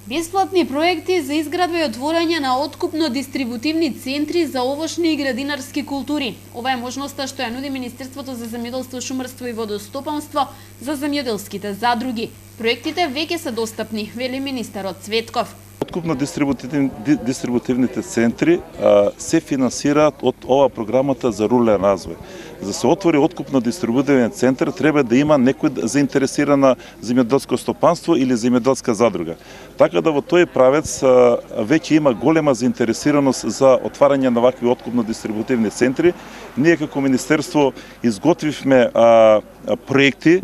Бесплатни проекти за изградба и отворање на откупно-дистрибутивни центри за овошни и градинарски култури. Ова е можноста што ја нуди Министерството за земјоделство, шумарство и водостопанство за земјоделските задруги. Проектите веќе се достапни, вели министерот Цветков. Откупно-дистрибутивните центри се финансираат од ова програмата за рурален развој. За да се отвори откупно-дистрибутивен центар треба да има некој заинтересирана земјоделско стопанство или земјоделска задруга. Така да во тој правец веќе има голема заинтересираност за отварање на вакви откупно-дистрибутивни центри. Ние како министерство изготвивме проекти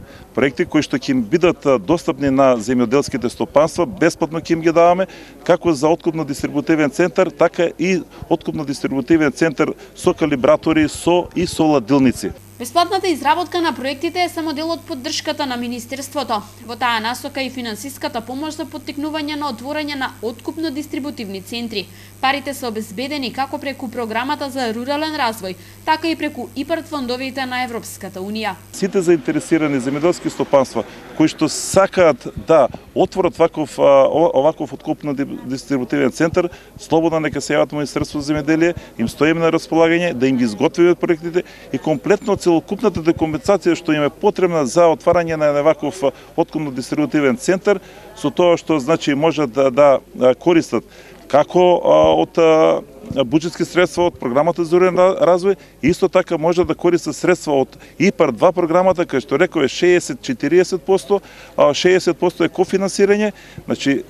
кои што ќе бидат достапни на земјоделските стопанства, бесплатно ќе им ги даваме, како за откупно-дистрибутивен центар, така и откупно-дистрибутивен центар со калибратори, со ладилници. Бесплатната изработка на проектите е само дел од поддршката на Министерството. Во таа насока и финансиската помош за поттикнување на отворање на откупно-дистрибутивни центри. Парите се обезбедени како преку програмата за рурален развој, така и преку ИПАРД фондовите на Европската Унија. Сите заинтересирани земјоделски стопанства кои што сакаат да отворат оваков откупно-дистрибутивен центар, слободно нека се јават во Министерството за земјоделие, им стоиме на располагање да им ги изготвиме проектите и комплетно целокупната документација што им е потребна за отварање на ваков откупно-дистрибутивен центар, со тоа што значи можат да користат како од буџетски средства од програмата за рурален развој, исто така може да користат средства од ИПАРД 2 програмата, кај што реков е 60-40%, 60% е кофинансирање. Значи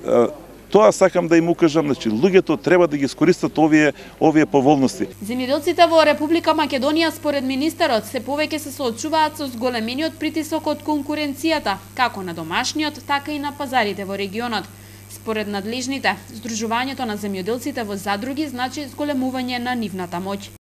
тоа сакам да им укажам, значи луѓето треба да ги искористат овие поволности. Земјоделците во Република Македонија според министерот се повеќе се соочуваат со зголемениот притисок од конкуренцијата, како на домашниот, така и на пазарите во регионот. Според надлежните, здружувањето на земјоделците во задруги значи зголемување на нивната моќ.